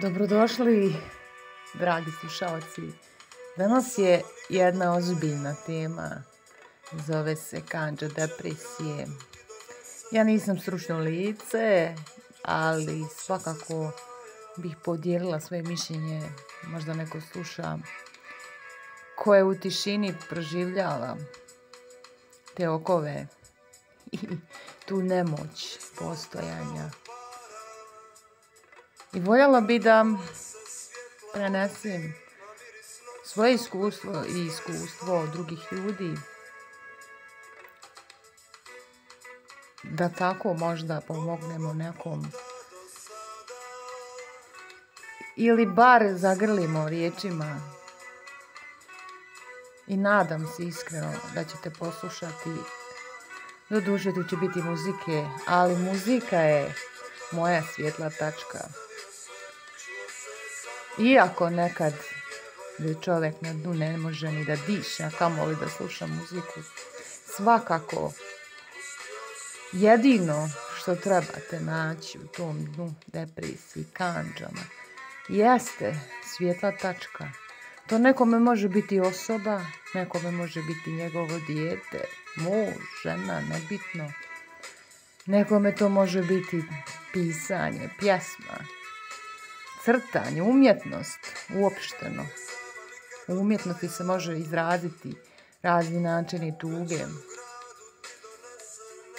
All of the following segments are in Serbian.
Dobrodošli, dragi slušalci. Danas je jedna ozbiljna tema. Zove se kandža depresije. Ja nisam stručno lice, ali svakako bih podijelila svoje mišljenje. Možda neko sluša ko je u tišini proživljava te okove i tu nemoć postojanja. I voljela bi da prenesem svoje iskustvo i iskustvo drugih ljudi, da tako možda pomognemo nekom ili bar zagrlimo riječima i nadam se iskreno da ćete poslušati. Doduše tu će biti muzike, ali muzika je moja svjetla tačka. Iako nekad da čovjek na dnu ne može ni da diše, a kamoli da sluša muziku, svakako jedino što trebate naći u tom dnu depresiji, kandžama, jeste svjetla tačka. To nekome može biti osoba, nekome može biti njegovo dijete, muž, žena, nebitno. Nekome to može biti pisanje, pjesma, crtanje, umjetnost uopšteno. U umjetnosti se može izraziti razni načini tuge.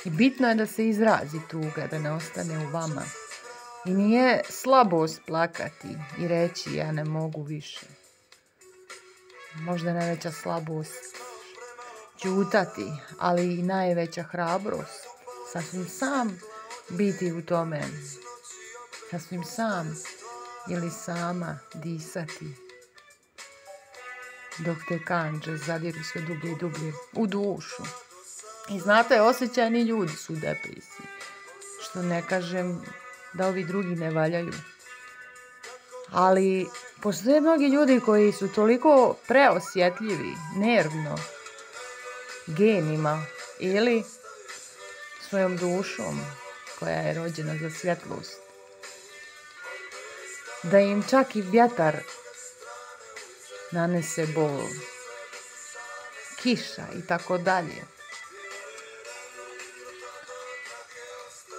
I bitno je da se izrazi tuga, da ne ostane u vama. I nije slabost plakati i reći ja ne mogu više. Možda je najveća slabost ćutati, ali i najveća hrabrost. Sasvim sam biti u tome. Sasvim sam ili sama disati. Dok te kandže zadiru sve dublje i dublje u dušu. I znate, osjećajni ljudi su u depresiji. Što ne kažem da ovi drugi ne valjaju. Ali postoje mnogi ljudi koji su toliko preosjetljivi, nervno, genima ili svojom dušom koja je rođena za svjetlost, da im čak i vjetar nanese bol, kiša i tako dalje.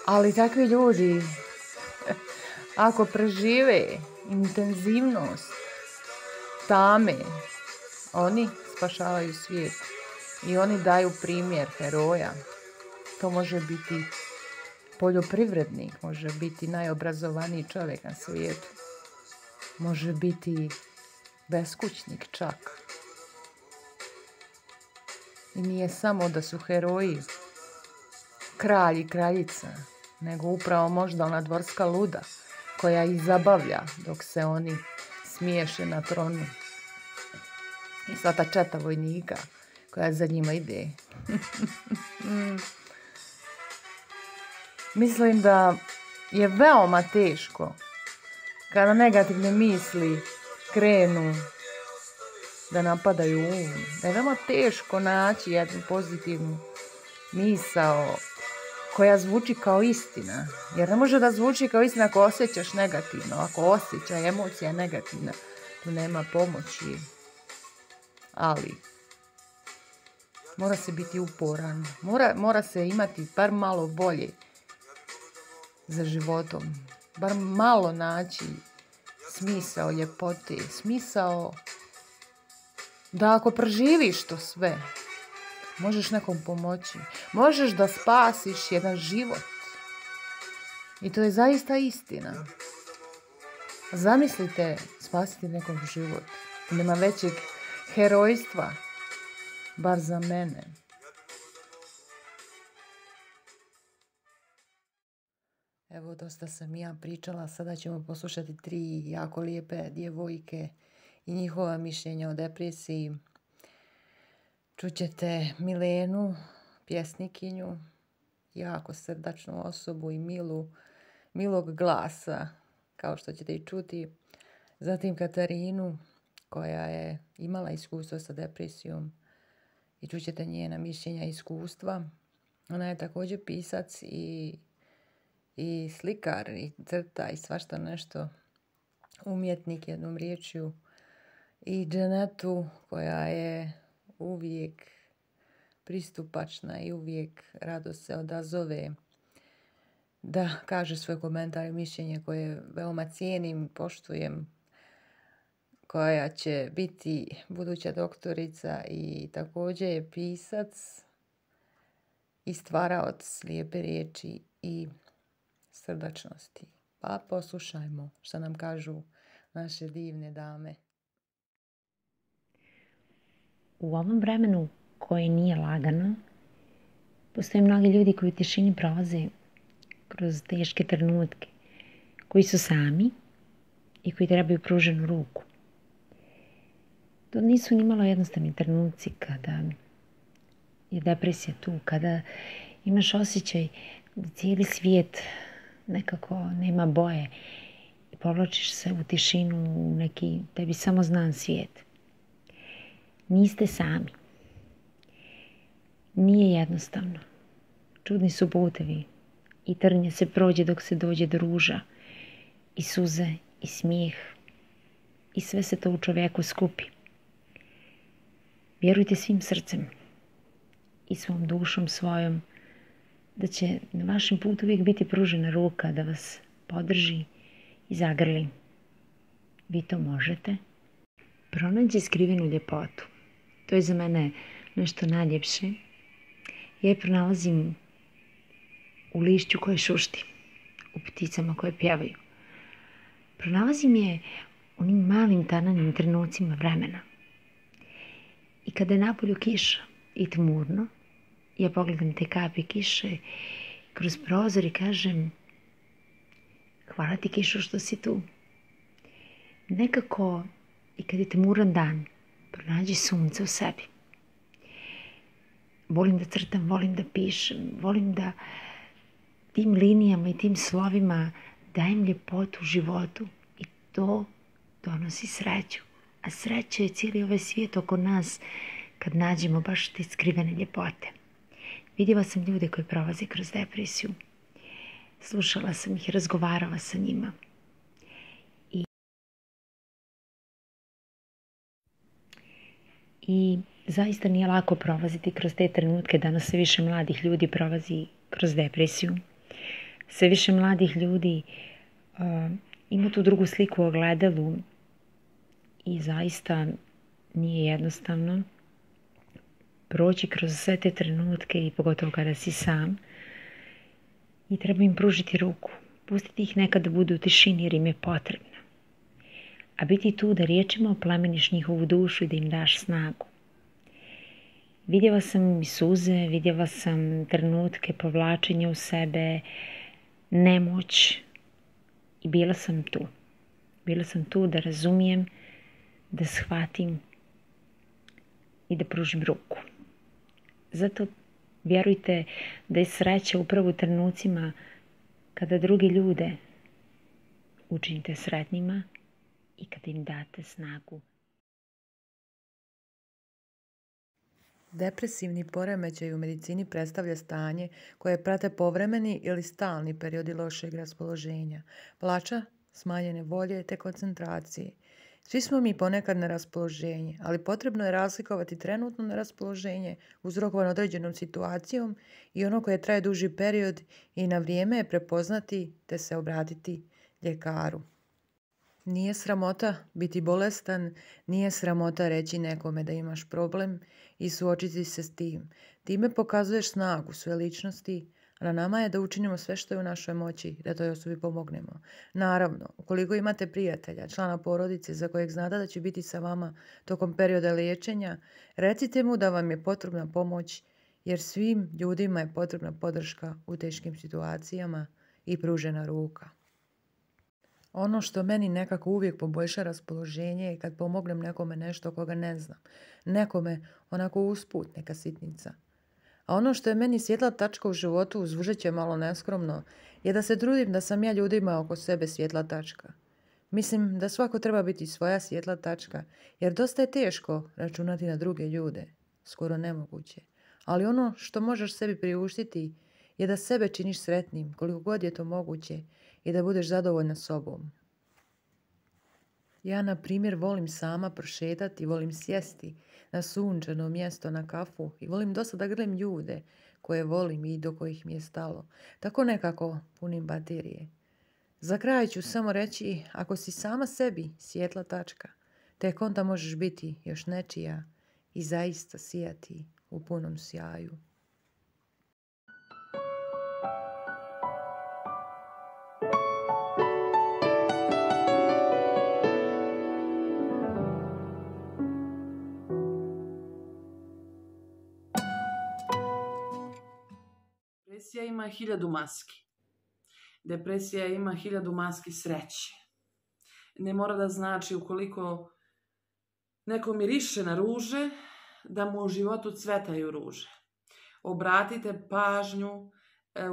Ali takvi ljudi, ako prežive intenzivnost tame, oni spašavaju svijet i oni daju primjer heroja. To može biti poljoprivrednik, može biti najobrazovaniji čovjek na svijetu, može biti beskućnik čak. I nije samo da su heroji kralj i kraljica, nego upravo možda ona dvorska luda koja ih zabavlja dok se oni smiješe na tronu. I sva ta četa vojnika koja za njima ide. Mislim da je veoma teško kada negativne misli krenu da napadaju um. Da je veoma teško naći jednu pozitivnu misao koja zvuči kao istina. Jer ne može da zvuči kao istina ako osjećaš negativno. Ako osjećaj emocija negativna, tu nema pomoći. Ali mora se biti uporan. Mora se imati bar malo bolje za životom. Bar malo naći smisao ljepote. Smisao da ako preživiš to sve, možeš nekom pomoći. Možeš da spasiš jedan život. I to je zaista istina. Zamislite spasiti nekom život. Nema većeg herojstva. Bar za mene. Evo, dosta sam ja pričala. Sada ćemo poslušati 3 jako lijepe djevojke i njihova mišljenja o depresiji. Čućete Milenu, pjesnikinju, jako srdačnu osobu i milog glasa, kao što ćete i čuti. Zatim Katarinu, koja je imala iskustvo sa depresijom i čućete njena mišljenja i iskustva. Ona je također pisac i slikar i crta i svašta nešto. umjetnik jednom riječju i Dženetu koja je uvijek pristupačna i uvijek rado se odazove da kaže svoj komentar i mišljenje koje veoma cijenim, poštujem, koja će biti buduća doktorica i također je pisac i stvaraoc lijepe riječi i srdačnosti. Pa poslušajmo što nam kažu naše divne dame. U ovom vremenu koje nije lagano, postoje mnogi ljudi koji u tišini prolaze kroz teške trenutke, koji su sami i koji trebaju pruženu ruku. To nisu nimalo jednostavni trenuci kada je depresija tu, kada imaš osjećaj da cijeli svijet nekako nema boje i povlačiš se u tišinu u neki tebi samo znan svijet. Niste sami. Nije jednostavno. Čudni su putevi i trnje se prođe dok se dođe do ruža i suze i smijeh i sve se to u čovjeku skupi. Vjerujte svim srcem i svom dušom svojom da će na vašem putu uvijek biti pružena ruka da vas podrži i zagrli. Vi to možete. Pronađi skrivenu ljepotu. To je za mene nešto najljepše. Ja je pronalazim u lišću koje šušti, u pticama koje pjevaju. Pronalazim je u onim malim tananim trenucima vremena. I kada je napolju kiša i tmurno, ja pogledam te kapi kiše kroz prozor i kažem: hvala ti kišo što si tu. Nekako i kad je tmuran dan, pronađi sunce u sebi. Volim da crtam, volim da pišem, volim da tim linijama i tim slovima dajem ljepotu u životu i to donosi sreću. A sreća je cijeli ovaj svijet oko nas kad nađemo baš te skrivene ljepote. Vidjela sam ljude koji prolaze kroz depresiju. Slušala sam ih, razgovarala sa njima. I zaista nije lako prolaziti kroz te trenutke. Danas sve više mladih ljudi prolazi kroz depresiju. Sve više mladih ljudi ima tu drugu sliku u ogledalu i zaista nije jednostavno proći kroz sve te trenutke i pogotovo kada si sam. I treba im pružiti ruku. Pustiti ih nekad da budu u tišini jer im je potrebno. A biti tu da riječima oplemeniš njihovu dušu i da im daš snagu. Vidjela sam i suze, vidjela sam trenutke povlačenja u sebe, nemoć i bila sam tu. Bila sam tu da razumijem, da shvatim i da pružim ruku. Zato vjerujte da je sreća upravo u trenucima kada drugi ljude učinite sretnima i kada im date snagu. Depresivni poremećaj u medicini predstavlja stanje koje prate povremeni ili stalni periodi lošeg raspoloženja, plača, smanjene volje te koncentracije. Svi smo mi ponekad na raspoloženje, ali potrebno je razlikovati trenutno na raspoloženje uzrokovano određenom situacijom i ono koje traje duži period i na vrijeme je prepoznati te se obratiti ljekaru. Nije sramota biti bolestan, nije sramota reći nekome da imaš problem i suočiti se s tim. Time pokazuješ snagu svoje ličnosti, a na nama je da učinimo sve što je u našoj moći da toj osobi pomognemo. Naravno, ukoliko imate prijatelja, člana porodice za kojeg znate da će biti sa vama tokom perioda liječenja, recite mu da vam je potrebna pomoć jer svim ljudima je potrebna podrška u teškim situacijama i pružena ruka. Ono što meni nekako uvijek poboljša raspoloženje je kad pomognem nekome nešto koga ne znam. Nekome onako usput neka sitnica. A ono što je meni svjetla tačka u životu, zvučat će malo neskromno, je da se trudim da sam ja ljudima oko sebe svjetla tačka. Mislim da svako treba biti svoja svjetla tačka, jer dosta je teško računati na druge ljude. Skoro nemoguće. Ali ono što možeš sebi priuštiti je da sebe činiš sretnim koliko god je to moguće i da budeš zadovoljna sobom. Ja, na primjer, volim sama prošetati, volim sjesti na sunčano mjesto na kafu i volim dosta da gledam ljude koje volim i do kojih mi je stalo. Tako nekako punim baterije. Za kraj ću samo reći, ako si sama sebi svjetla tačka, tek onda možeš biti još nečija i zaista sijati u punom sjaju. Depresija ima 1000 maski. Depresija ima 1000 maski sreće. Ne mora da znači ukoliko neko miriše na ruže, da mu u životu cvetaju ruže. Obratite pažnju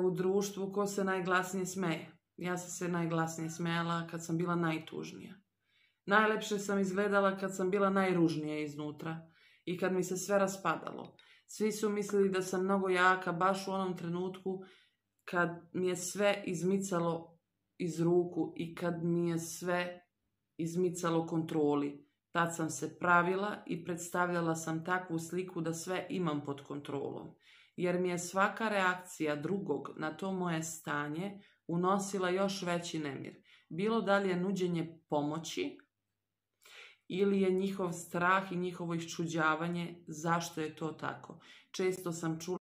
u društvu ko se najglasnije smeje. Ja sam se najglasnije smejala kad sam bila najtužnija. Najlepše sam izgledala kad sam bila najružnija iznutra i kad mi se sve raspadalo. Svi su mislili da sam mnogo jaka baš u onom trenutku kad mi je sve izmicalo iz ruku i kad mi je sve izmicalo kontroli. Tad sam se pravila i predstavljala sam takvu sliku da sve imam pod kontrolom. Jer mi je svaka reakcija drugog na to moje stanje unosila još veći nemir. Bilo da li je nuđenje pomoći ili je njihov strah i njihovo iščuđavanje zašto je to tako. Često sam čula,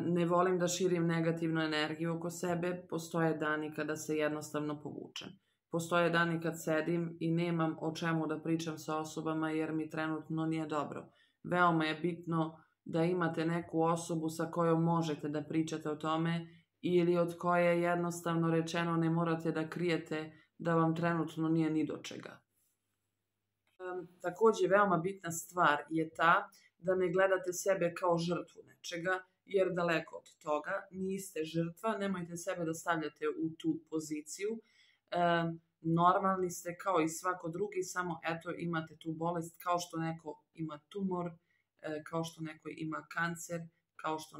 ne volim da širim negativnu energiju oko sebe, postoje dani kada se jednostavno povučem. Postoje dani kad sedim i nemam o čemu da pričam sa osobama jer mi trenutno nije dobro. Veoma je bitno da imate neku osobu sa kojom možete da pričate o tome ili od koje jednostavno rečeno ne morate da krijete da vam trenutno nije ni do čega. Također veoma bitna stvar je ta da ne gledate sebe kao žrtvu nečega, jer daleko od toga niste žrtva, nemojte sebe da stavljate u tu poziciju. Normalni ste kao i svako drugi, samo eto imate tu bolest kao što neko ima tumor, kao što neko ima kancer, kao što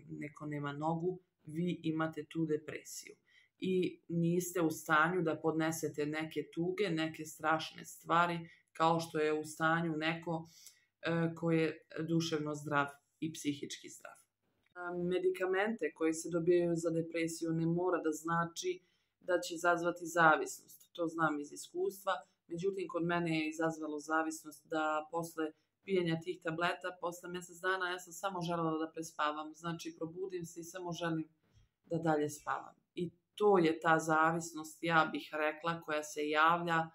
neko nema nogu, vi imate tu depresiju. I niste u stanju da podnesete neke tuge, neke strašne stvari, kao što je u stanju neko ko je duševno zdrav i psihički zdrav. Medikamente koje se dobijaju za depresiju ne mora da znači da će izazvati zavisnost. To znam iz iskustva. Međutim, kod mene je izazvalo zavisnost da posle pijenja tih tableta, posle mjesec dana ja sam samo želela da prespavam. Znači, probudim se i samo želim da dalje spavam. I to je ta zavisnost, ja bih rekla, koja se javlja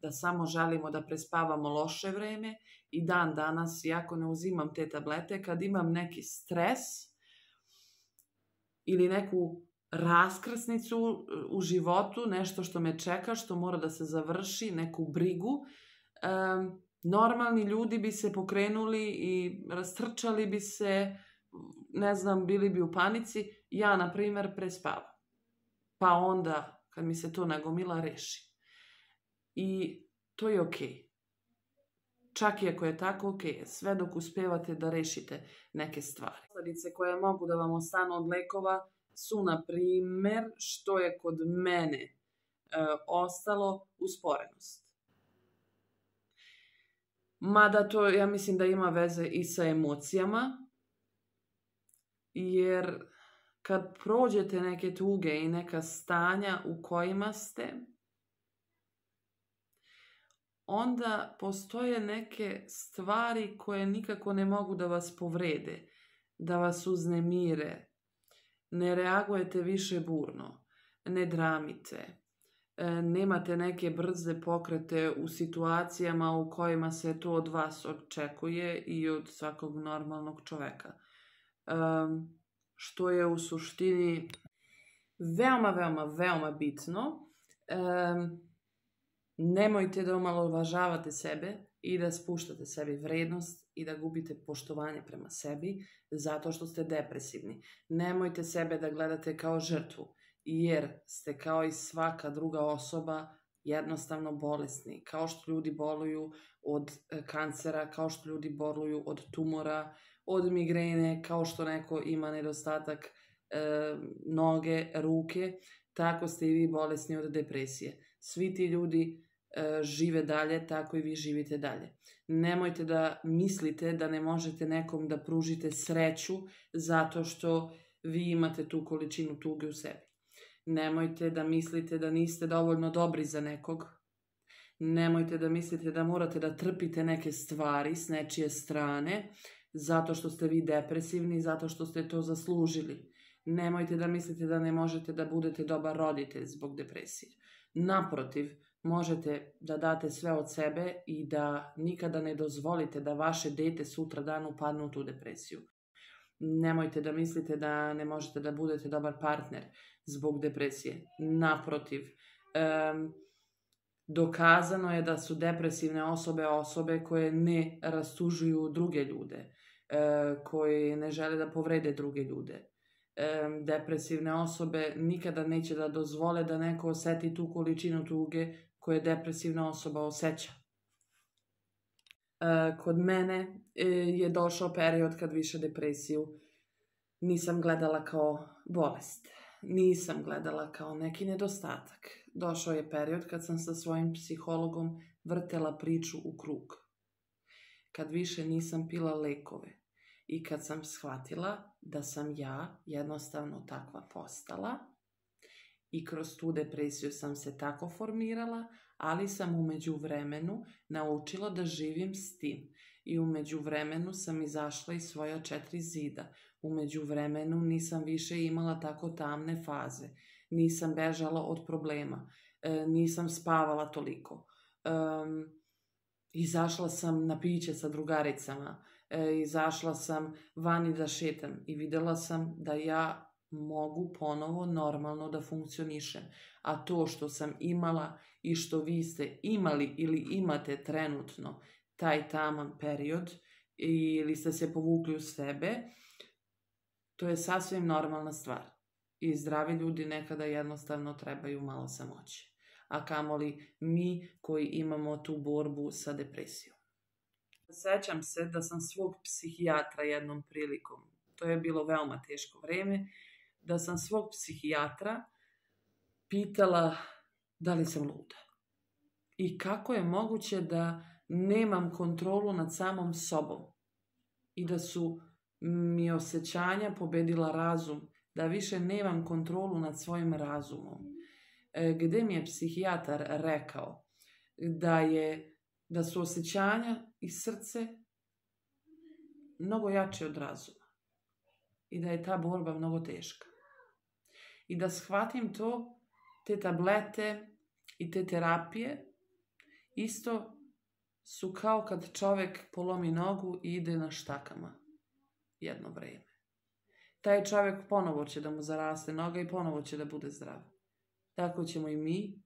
da samo želimo da prespavamo loše vreme i dan danas, iako ne uzimam te tablete, kad imam neki stres ili neku raskrsnicu u životu, nešto što me čeka, što mora da se završi, neku brigu, normalni ljudi bi se pokrenuli i rastrčali bi se, ne znam, bili bi u panici. Ja, na primjer, prespavam. Pa onda, kad mi se to nagomila, reši. I to je okej. Čak i ako je tako, okej. Sve dok uspevate da rešite neke stvari. Posledice koje mogu da vam ostanu od lekova su, na primjer, što je kod mene ostalo, usporenost. Mada to, ja mislim da ima veze i sa emocijama, jer kad prođete neke tuge i neka stanja u kojima ste, onda postoje neke stvari koje nikako ne mogu da vas povrede, da vas uznemire. Ne reagujete više burno, ne dramite, nemate neke brze pokrete u situacijama u kojima se to od vas očekuje i od svakog normalnog čoveka. Što je u suštini veoma bitno. Nemojte da omalovažavate sebe i da spuštate sebi vrednost i da gubite poštovanje prema sebi zato što ste depresivni. Nemojte sebe da gledate kao žrtvu, jer ste kao i svaka druga osoba jednostavno bolesni. Kao što ljudi boluju od kancera, kao što ljudi boluju od tumora, od migrene, kao što neko ima nedostatak noge, ruke, tako ste i vi bolesni od depresije. Svi ti ljudi žive dalje, tako i vi živite dalje. Nemojte da mislite da ne možete nekom da pružite sreću zato što vi imate tu količinu tuge u sebi. Nemojte da mislite da niste dovoljno dobri za nekog. Nemojte da mislite da morate da trpite neke stvari s nečije strane zato što ste vi depresivni, zato što ste to zaslužili. Nemojte da mislite da ne možete da budete dobar roditelj zbog depresije. Naprotiv, možete da date sve od sebe i da nikada ne dozvolite da vaše dete sutra dan upadne u tu depresiju. Nemojte da mislite da ne možete da budete dobar partner zbog depresije. Naprotiv, dokazano je da su depresivne osobe koje ne rastužuju druge ljude, koje ne žele da povrede druge ljude. Depresivne osobe nikada neće da dozvole da neko oseti tu količinu tuge koje depresivna osoba osjeća. Kod mene je došao period kad više depresiju nisam gledala kao bolest. Nisam gledala kao neki nedostatak. Došao je period kad sam sa svojim psihologom vrtela priču u krug. Kad više nisam pila lekove i kad sam shvatila da sam ja jednostavno takva postala i kroz tu depresiju sam se tako formirala, ali sam u međuvremenu naučila da živim s tim. I u međuvremenu sam izašla iz svoja 4 zida. U međuvremenu nisam više imala tako tamne faze. Nisam bežala od problema. Nisam spavala toliko. Izašla sam na piće sa drugaricama. Izašla sam vani da šetam i videla sam da ja mogu ponovo normalno da funkcionišem. A to što sam imala i što vi ste imali ili imate trenutno taj taman period ili ste se povukli u sebe, to je sasvim normalna stvar. I zdravi ljudi nekada jednostavno trebaju malo samoće. A kamoli mi koji imamo tu borbu sa depresijom. Sećam se da sam svog psihijatra jednom prilikom, to je bilo veoma teško vreme, da sam svog psihijatra pitala da li sam luda. I kako je moguće da nemam kontrolu nad samom sobom. I da su mi osjećanja pobedila razum. Da više nemam kontrolu nad svojim razumom. Gde mi je psihijatar rekao da su osjećanja i srce mnogo jače od razuma. I da je ta borba mnogo teška. I da shvatim to, te tablete i te terapije, isto su kao kad čovjek polomi nogu i ide na štakama jedno vreme. Taj čovjek ponovo će da mu zaraste noga i ponovo će da bude zdrav. Tako ćemo i mi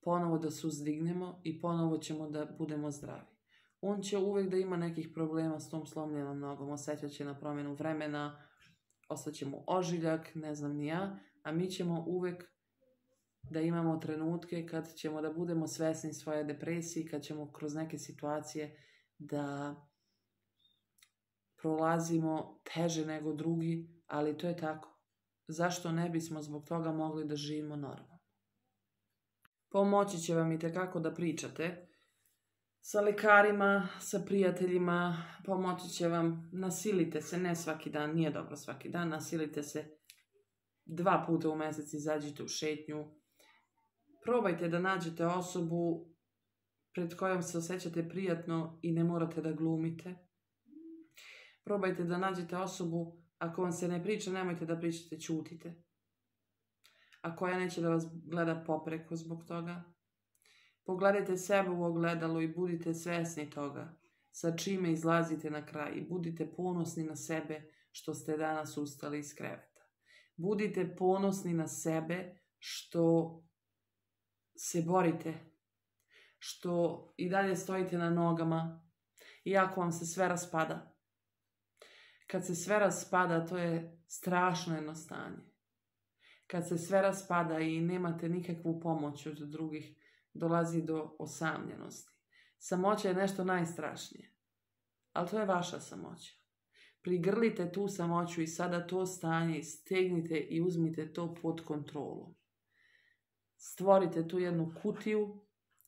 ponovo da se uzdignemo i ponovo ćemo da budemo zdravi. On će uvek da ima nekih problema s tom slomljenom nogom, osjećat će na promjenu vremena, ostaće mu ožiljak, ne znam ni ja, a mi ćemo uvek da imamo trenutke kad ćemo da budemo svesni svoje depresije, kad ćemo kroz neke situacije da prolazimo teže nego drugi, ali to je tako. Zašto ne bismo zbog toga mogli da živimo normalno? Pomoći će vam itekako da pričate sa lekarima, sa prijateljima, pomoći će vam, nasilite se, ne svaki dan, nije dobro svaki dan, nasilite se 2 puta u mesec, izađite u šetnju, probajte da nađete osobu pred kojom se osjećate prijatno i ne morate da glumite. Probajte da nađete osobu, ako vam se ne priča, nemojte da pričate, ćutite. A koja neće da vas gleda popreko zbog toga. Pogledajte sebe u ogledalo i budite svesni toga sa čime izlazite na kraj i budite ponosni na sebe što ste danas ustali iz kreveta. Budite ponosni na sebe što se borite, što i dalje stojite na nogama, iako vam se sve raspada. Kad se sve raspada, to je strašno jedno stanje. Kad se sve raspada i nemate nikakvu pomoć od drugih, dolazi do osamljenosti. Samoća je nešto najstrašnije, ali to je vaša samoća. Prigrlite tu samoću i sada to stanje stegnite i uzmite to pod kontrolu. Stvorite tu jednu kutiju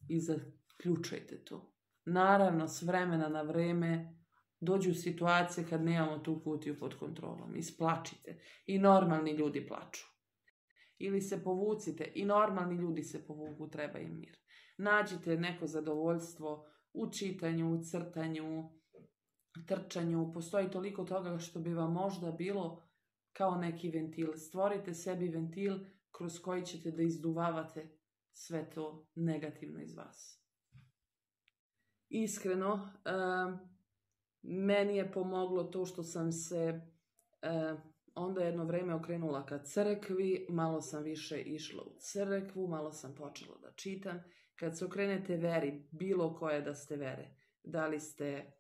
i zaključajte to. Naravno, s vremena na vreme dođu situacije kad nemamo tu kutiju pod kontrolom. Isplačite. I normalni ljudi plaču. Ili se povucite. I normalni ljudi se povuku. Treba im mir. Nađite neko zadovoljstvo u čitanju, u crtanju, trčanju. Postoji toliko toga što bi vam možda bilo kao neki ventil. Stvorite sebi ventil kroz koji ćete da izduvavate sve to negativno iz vas. Iskreno, meni je pomoglo to što sam se onda jedno vreme okrenula ka crkvi, malo sam više išla u crkvu, malo sam počela da čitam. Kad se okrenete veri, bilo koje da ste vere, da li ste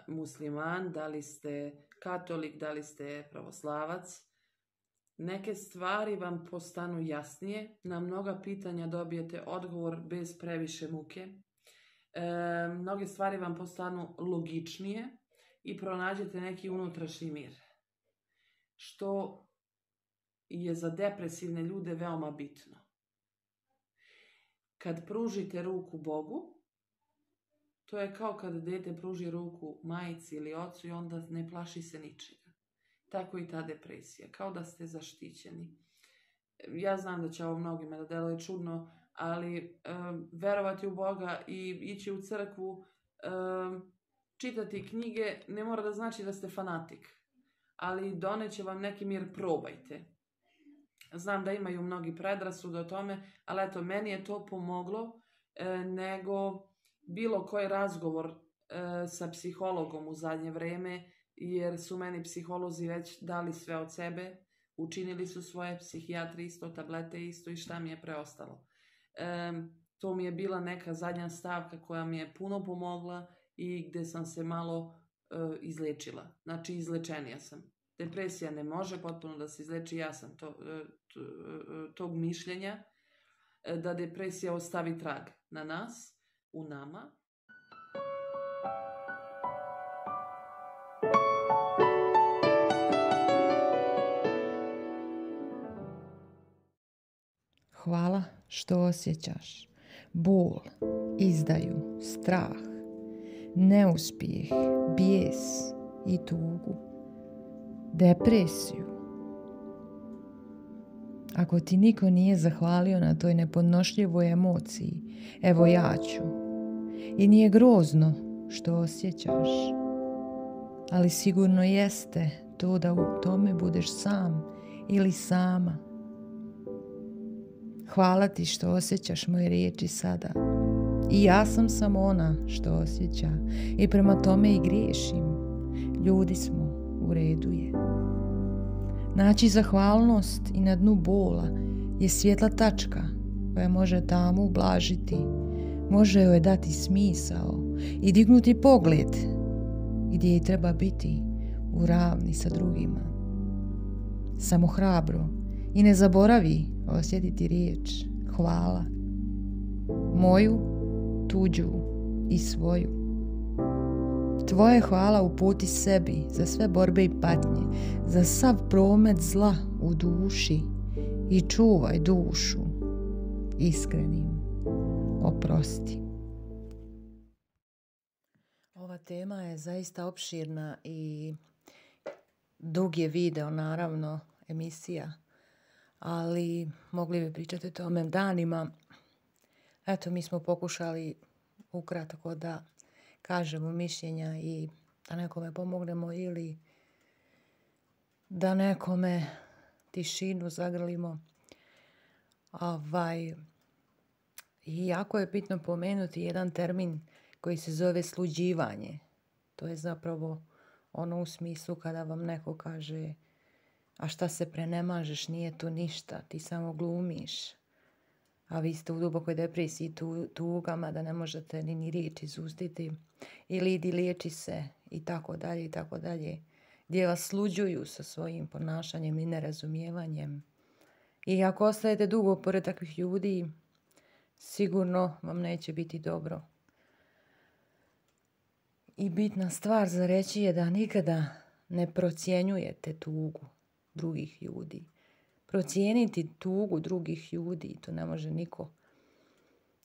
musliman, da li ste katolik, da li ste pravoslavac, neke stvari vam postanu jasnije, na mnoga pitanja dobijete odgovor bez previše muke, mnoge stvari vam postanu logičnije i pronađete neki unutrašnji mir, što je za depresivne ljude veoma bitno. Kad pružite ruku Bogu, to je kao kad dete pruži ruku majici ili ocu i onda ne plaši se ničega. Tako i ta depresija, kao da ste zaštićeni. Ja znam da će ovo mnogima da deluje čudno, ali verovati u Boga i ići u crkvu, čitati knjige, ne mora da znači da ste fanatik. Ali doneće vam neki mir, probajte. Znam da imaju mnogi predrasude o tome, ali eto, meni je to pomoglo nego bilo koji razgovor sa psihologom u zadnje vreme, jer su meni psiholozi već dali sve od sebe, učinili su svoje, psihijatri isto, tablete isto i šta mi je preostalo. To mi je bila neka zadnja stavka koja mi je puno pomogla i gde sam se malo izlečila. Znači, izlečenija sam. Depresija ne može potpuno da se izleči, ja sam tog mišljenja da depresija ostavi trag na nas, u nama. Hvala što osjećaš bol, izdaju, strah, neuspjeh, bijes i tugu, depresiju. Ako ti niko nije zahvalio na toj nepodnošljivoj emociji, evo ja ću. I nije grozno što osjećaš, ali sigurno jeste to da u tome budeš sam ili sama. Hvala ti što osjećaš moje riječi sada. I ja sam samo ona što osjeća i prema tome i griješim. Ljudi smo, u redu je. Naći zahvalnost i na dnu bola je svjetla tačka koja može tamu ublažiti, može joj dati smisao i dignuti pogled gdje je treba biti u ravni sa drugima. Samo hrabro i ne zaboravi osjetiti riječ hvala. Moju, tuđu i svoju. Tvoje hvala uputi sebi za sve borbe i patnje, za sav promet zla u duši i čuvaj dušu iskrenim. Oprosti. Ova tema je zaista opširna i dug je video, naravno, emisija, ali mogli bi pričati o tome danima. Eto, mi smo pokušali ukratko da kažemo mišljenja i da nekome pomognemo ili da nekome tišinu zagrlimo. I jako je bitno pomenuti jedan termin koji se zove sluđivanje. To je zapravo ono u smislu kada vam neko kaže a šta se prenemažeš, nije to ništa, ti samo glumiš. A vi ste u dubokoj depresiji, tugama da ne možete ni riječ izustiti. Ili idi liječi se i tako dalje i tako dalje. Gdje vas sluđuju sa svojim ponašanjem i nerazumijevanjem. I ako ostajete dugo pored takvih ljudi, sigurno vam neće biti dobro. I bitna stvar za reći je da nikada ne procjenjujete tugu drugih ljudi. Procijeniti tugu drugih ljudi, to ne može niko.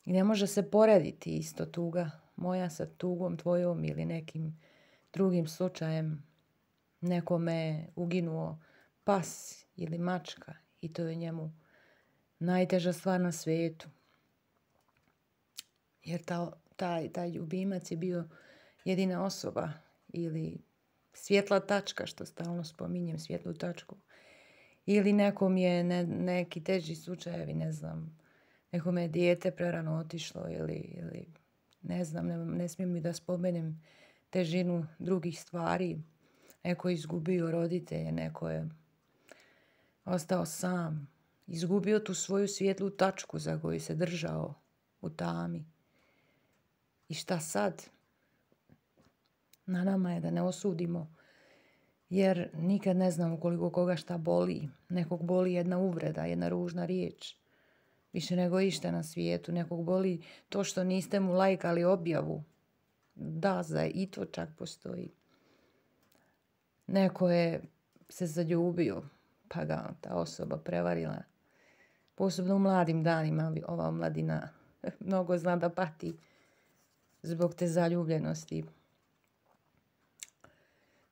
I ne može se porediti isto tuga moja sa tugom tvojom ili nekim drugim slučajem. Nekome je uginuo pas ili mačka i to je njemu najteža stvar na svijetu. Jer taj ljubimac je bio jedina osoba ili svjetla tačka, što stalno spominjem, svjetlu tačku. Ili nekom je neki teži slučajevi, ne znam, nekome je dijete prerano otišlo ili ne znam, ne smijem mi da spomenem težinu drugih stvari. Neko je izgubio roditelje, neko je ostao sam, izgubio tu svoju svjetlu tačku za koju se držao u tami. I šta sad? Na nama je da ne osudimo, jer nikad ne znamo koliko koga šta boli. Nekog boli jedna uvreda, jedna ružna riječ, više nego išta na svijetu. Nekog boli to što niste mu lajkali objavu. Da, i to čak postoji. Neko je se zaljubio, pa ga ta osoba prevarila. Posebno u mladim danima ova omladina mnogo zna da pati zbog te zaljubljenosti.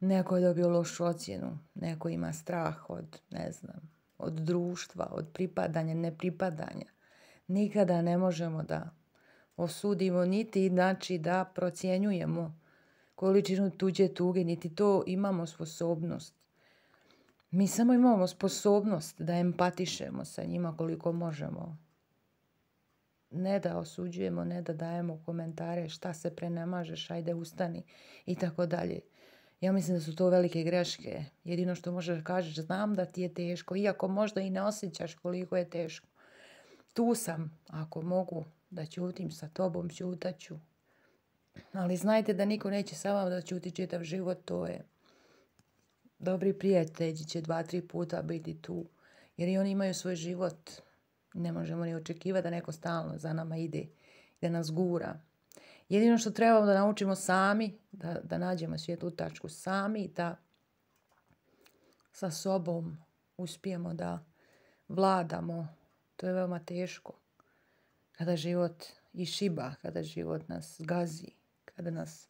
Neko je dobio lošu ocjenu, neko ima strah od, ne znam, od društva, od pripadanja, nepripadanja. Nikada ne možemo da osudimo, niti znači da procjenjujemo količinu tuđe tuge, niti to imamo sposobnost. Mi samo imamo sposobnost da empatišemo sa njima koliko možemo. Ne da osuđujemo, ne da dajemo komentare šta se prenemažeš, ajde ustani i tako dalje. Ja mislim da su to velike greške. Jedino što možeš kažeš, znam da ti je teško, iako možda i ne osjećaš koliko je teško. Tu sam, ako mogu da ćutim sa tobom, ćutaću. Ali znajte da niko neće sa vama da ćuti čitav život, to je. Dobri prijatelji će 2-3 puta biti tu, jer i oni imaju svoj život. Ne možemo ni očekivati da neko stalno za nama ide, da nas gura. Jedino što trebamo da naučimo sami, da nađemo svijetlu tačku sami, da sa sobom uspijemo da vladamo. To je veoma teško. Kada život išiba, kada život nas gazi, kada nas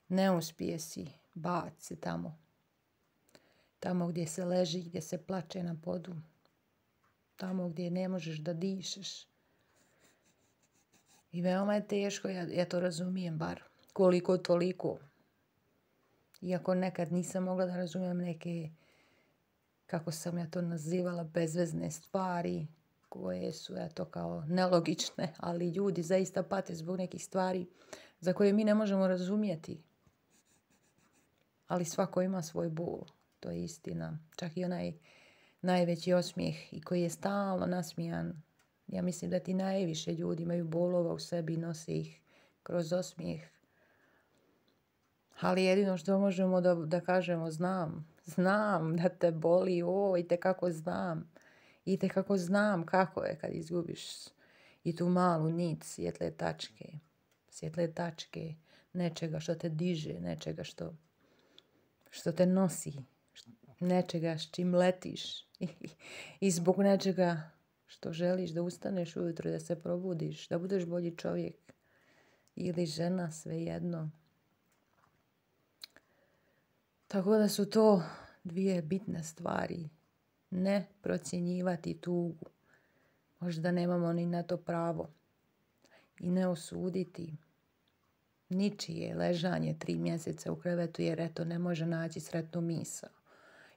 ne uspije si baci tamo. Tamo gdje se leži, gdje se plače na podu. Tamo gdje ne možeš da dišeš. I veoma je teško, ja to razumijem bar, koliko toliko. Iako nekad nisam mogla da razumijem neke, kako sam ja to nazivala, bezvezne stvari, koje su eto kao nelogične, ali ljudi zaista pate zbog nekih stvari za koje mi ne možemo razumjeti. Ali svako ima svoj bol, to je istina. Čak i onaj najveći osmijeh i koji je stalno nasmijan. Ja mislim da ti najviše ljudi imaju bolova u sebi i nose ih kroz osmijeh. Ali jedino što možemo da kažemo, znam da te boli, itekako znam. Itekako znam kako je kad izgubiš i tu malu nit svjetle tačke, nečega što te diže, nečega što te nosi, nečega s čim letiš i zbog nečega što želiš da ustaneš ujutro, da se probudiš, da budeš bolji čovjek ili žena, svejedno. Tako da su to dvije bitne stvari. Ne procjenjivati tugu. Možda nemamo ni na to pravo. I ne osuditi ničije ležanje 3 mjeseca u krevetu jer eto ne može naći sretnu misao.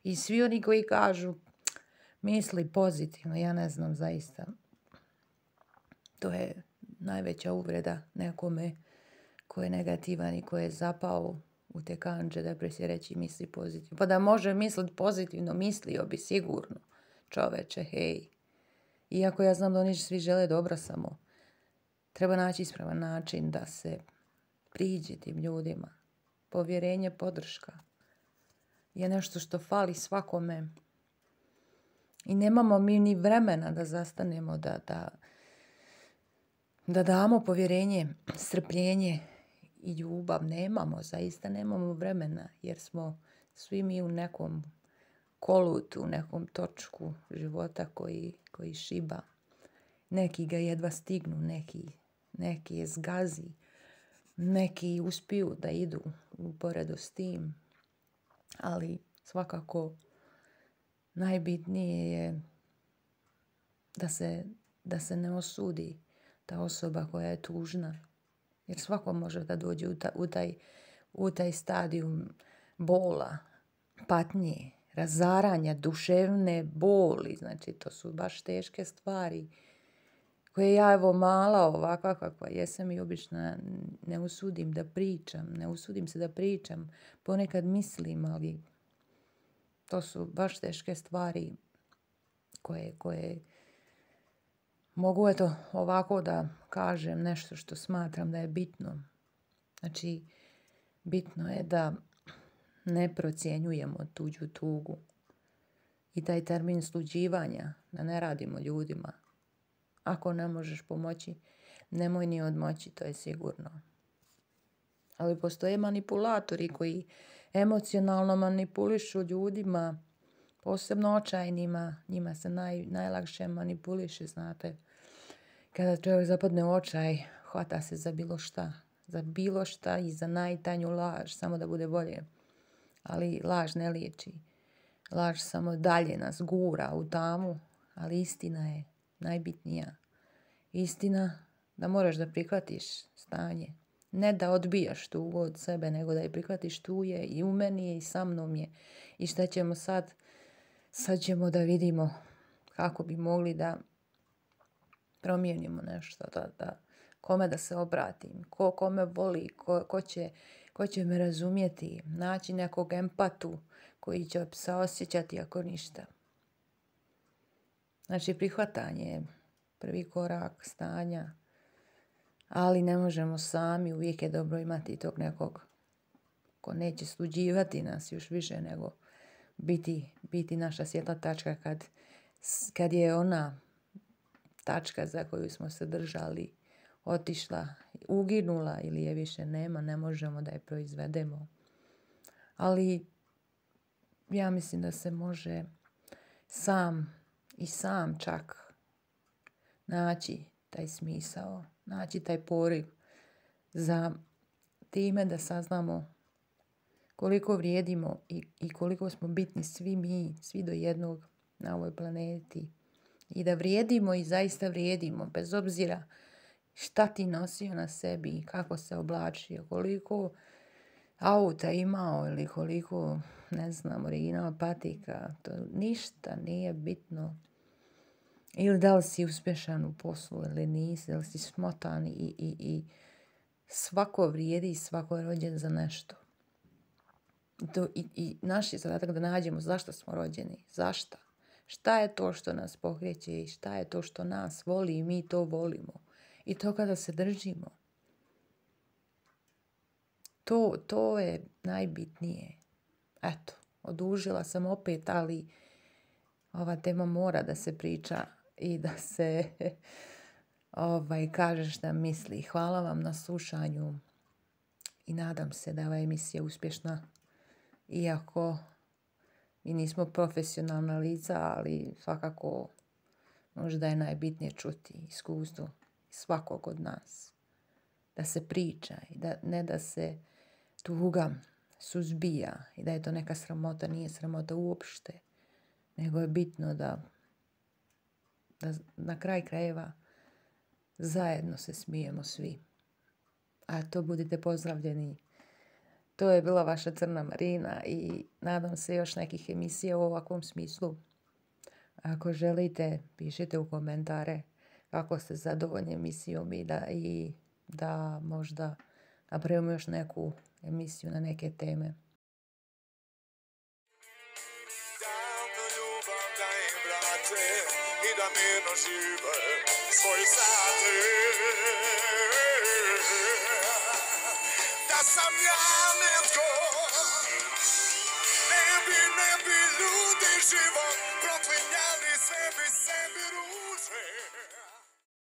I svi oni koji kažu misli pozitivno, ja ne znam zaista. To je najveća uvreda nekome ko je negativan i ko je zapao u te kandže depresije reći misli pozitivno. Pa da može misliti pozitivno, mislio bi sigurno. Čoveče, hej. Iako ja znam da oni svi žele dobro, samo treba naći ispravan način da se priđe tim ljudima. Povjerenje, podrška je nešto što fali svakome. I nemamo mi ni vremena da zastanemo, da damo povjerenje, strpljenje i ljubav. Zaista nemamo vremena jer smo svi mi u nekom kolutu, u nekom točku života koji šiba. Neki ga jedva stignu, neki neki je zgazi, neki uspiju da idu uporedo s tim, ali svakako najbitnije je da se ne osudi ta osoba koja je tužna, jer svako može da dođe u taj stadijum bola, patnje, razaranja, duševne boli. Znači, to su baš teške stvari koje ja, evo, mala ovakva kakva jesam i obično ne usudim se da pričam. Ponekad mislim, ali to su baš teške stvari koje mogu, eto, ovako da kažem nešto što smatram da je bitno. Znači, bitno je da ne procjenjujemo tuđu tugu i taj termin sluđivanja, da ne radimo ljudima. Ako ne možeš pomoći, nemoj ni odmoći, to je sigurno. Ali postoje manipulatori koji emocionalno manipulišu ljudima, posebno očajnima. Njima se najlakše manipuliše, znate. Kada čovjek zapadne u očaj, hvata se za bilo šta i za najtanju laž, samo da bude bolje. Ali laž ne liječi. Laž samo dalje nas gura u tamu, ali istina je najbitnija. Istina da moraš da prihvatiš stanje. Ne da odbijaš tugu od sebe, nego da je prihvatiš, tu je i u meni je i sa mnom je. I šta ćemo sad? Sad ćemo da vidimo kako bi mogli da promijenimo nešto, kome da se obratim, ko me voli, ko će me razumjeti, naći nekog empatu koji će se osjećati ako ništa. Znači, prihvatanje je prvi korak stanja, ali ne možemo sami, uvijek je dobro imati tog nekog ko neće sluđivati nas još više nego biti naša svjetla tačka kad je ona tačka za koju smo se držali otišla, uginula ili je više nema, ne možemo da je proizvedemo. Ali ja mislim da se može sam čak naći taj smisao, naći taj poriv za time da saznamo koliko vrijedimo i koliko smo bitni svi mi, svi do jednog na ovoj planeti. I da vrijedimo i zaista vrijedimo, bez obzira šta ti nosio na sebi i kako se oblačio, koliko auta imao ili koliko, ne znam, original patika, to ništa nije bitno. Ili da li si uspješan u poslu ili nisi, da li si smotan i svako vrijedi i svako je rođen za nešto. I naš je zadatak da nađemo zašto smo rođeni, zašto. Šta je to što nas pokreće i šta je to što nas voli i mi to volimo. I to kada se držimo. To je najbitnije. Eto, odužila sam opet, ali ova tema mora da se priča i da se kaže šta misli. Hvala vam na slušanju i nadam se da je ova emisija uspješna. Iako mi nismo profesionalna lica, ali svakako možda je najbitnije čuti iskustvo svakog od nas. Da se priča i ne da se tuga suzbija i da je to neka sramota, nije sramota uopšte, nego je bitno da na kraj krajeva zajedno se smijemo svi. A to budite pozdravljeni. To je bila vaša Crna Marina i nadam se još nekih emisija u ovakvom smislu. Ako želite, pišite u komentare kako ste zadovoljni emisijom i da možda napravimo još neku emisiju na neke teme. I da mirno žive svoj sati. Da sam ja netko, ne bi ljudi život proklinjali, sve bi sebi ruku.